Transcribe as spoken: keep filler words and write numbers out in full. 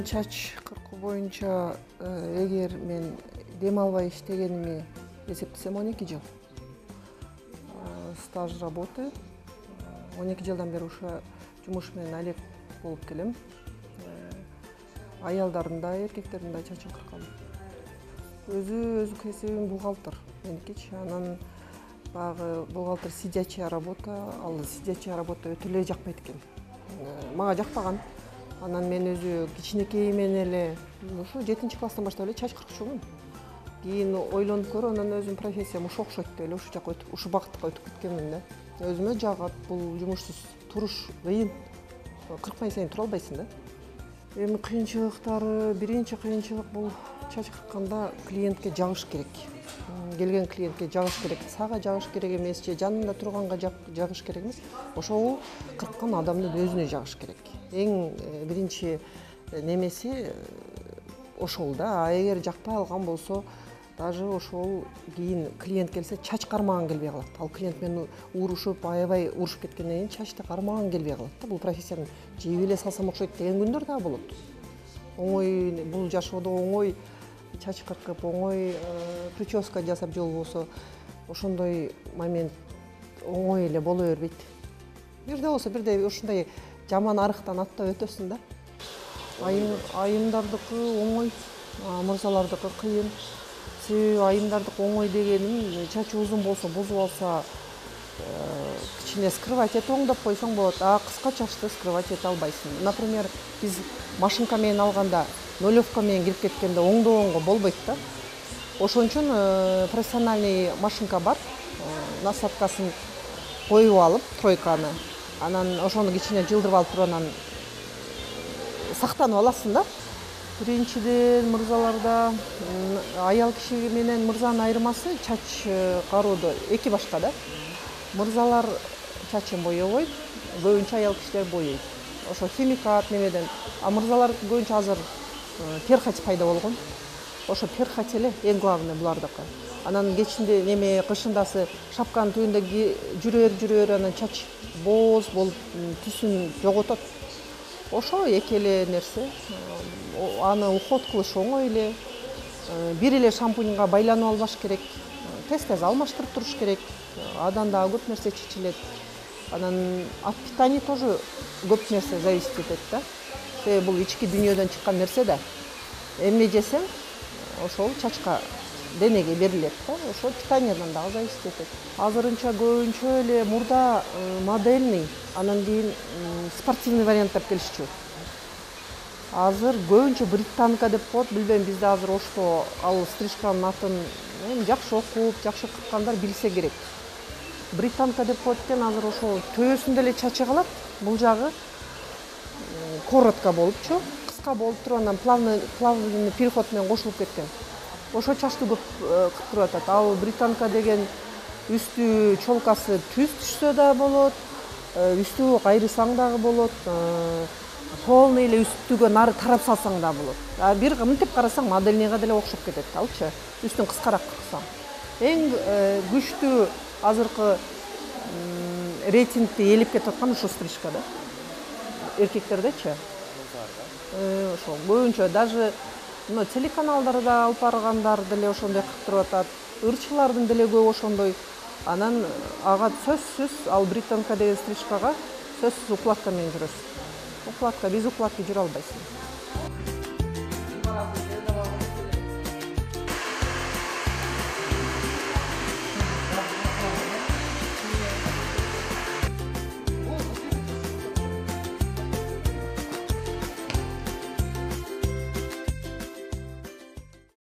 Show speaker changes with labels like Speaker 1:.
Speaker 1: Мен чач кыркуу боюнча эгер мен дем албай иштегениме эсептесем он эки жыл. Стаж работы он эки жылдан бери ушу жумуш менен алек болуп келем. Аялдардын да, эркектердин да чачын кыркам. Өзү өзү кесибим бухгалтер меникичи. Анан багы бухгалтер сидячая работа, ал сидячая работа өтө эле жакпайт экен. Мага жакпаган. Анан мен өзү кичинекей менен эле ушу жетинчи класстан баштап эле чач кыркчумун. Кийин ойлонуп көрүп, анан өзүм профессиям ушу окшойт деп эле ушу жака өтүп, ушу багытка өтүп кеткенмин да. Өзүмө жагат, бул жумушсуз туруш кыйын. Кыркпай сайын тура албайсың да. Эми кыйынчылыктары, биринчи кыйынчылык бул чач кыркканда клиентке жагыш керек. Келген клиентке жагыш керек. Сага жагыш керек эмес, же жанында турганга жагыш керек эмес. Ошол кырккан адамдын өзүнө жагыш керек. Эң биринчи немеси ошол да. А эгер жакпай алган болсо, даже ошол кийин клиент келсе чач кармаган келбей калат. Ал клиент менен урушуп, аябай урушуп кеткенден кийин чачты кармаган келбей калат да. Бул профессияны жеп эле салсам окшойт деген күндөр да болот. Оңой бул жашоодо оңой чач кыркып, оңой прическа жасап же болбосо ошондой момент оңой эле боло бербейт. Бирде болсо бирде ушундай жаман арыктан аттап өтөсүң да. Айым айымдардыкы оңой, мырзалардыкы кыйын. Себеби айымдардыкы оңой дегеним чачы узун болсо, бузуп алса, кичине скрывать этип оңдоп койсоң болот. А кыска чачты скрывать эте албайсың. Например, биз машинка менен алганда, нолевка менен кирип кеткенде оңдогонго болбойт да. Ошон үчүн профессиональный машинка бар. Насадкасын коюп алып, тройканы, анан ошону кичине жылдырып алып туруп анан сактанып аласың да. Биринчиден мырзаларда аял киши менен мырзанын айырмасы чач кароодо эки башка да. Мырзалар чачын боебойт, көбүнчө аял кишилер боейт. Ошо химикат немеден. А мырзалар көбүнчө азыр перхоть пайда болгон. Ошо перхоть эле эң главный булардыкы. Анан кечинде неме кышындасы шапканын түбүндө жүрөр жүрөр анан чач боз болуп түсүн жоготот. Ошо эки эле нерсе. Аны уход кылыш оңой эле. Бир эле шампуньга байланып албаш керек. Тез-тез алмаштырып туруш керек. Адан дагы көп нерсе чечилет. Анан от питания тоже көп нерсе зависит этет да. Себеби бул ички дүйнөдөн чыккан нерсе да. Эмне жесең, ошол чачка денеге берилет да. Ошол питаниядан дагы зависит этет. Азырынча көбүнчө эле мурда модельный, анан кийин спортивный варианттар келишчү. Азыр көбүнчө британка деп коет, билбейм, бизде азыр ошто ал стрижканын атын жакшы окуп, жакшы кырккандар билсе керек. Британка деп коет экен, азыр ошол төбөсүндө эле чачы калат, бул жагы коротко болупчу, кыска болуп туруп анан плавный плавный переход менен кошулуп кеткен. Ошо чачты көп кыркырып атат. Ал британка деген үстү чолкасы түз түшсө да болот, үстү кайрысаң дагы болот, полный эле үстүгө нары тарап салсаң да болот. А бир мынтип карасаң модельныйга деле окшоп кетет алчы, үстүн кыскараак кырксаң. Эң күчтүү азыркы рейтингди ээлеп кетип аткан ушу стрижка да. Эркектердечи. Ошол көбүнчө даже мына телеканалдарда алып баргандар деле ошондой кырктырып атат. Ырчылардын деле көп ошондой. Анан ага сөзсүз ал британка деген стрижкага сөзсүз укладка менен жүрөсүң. Укладка, без укладки жүрө албайсың.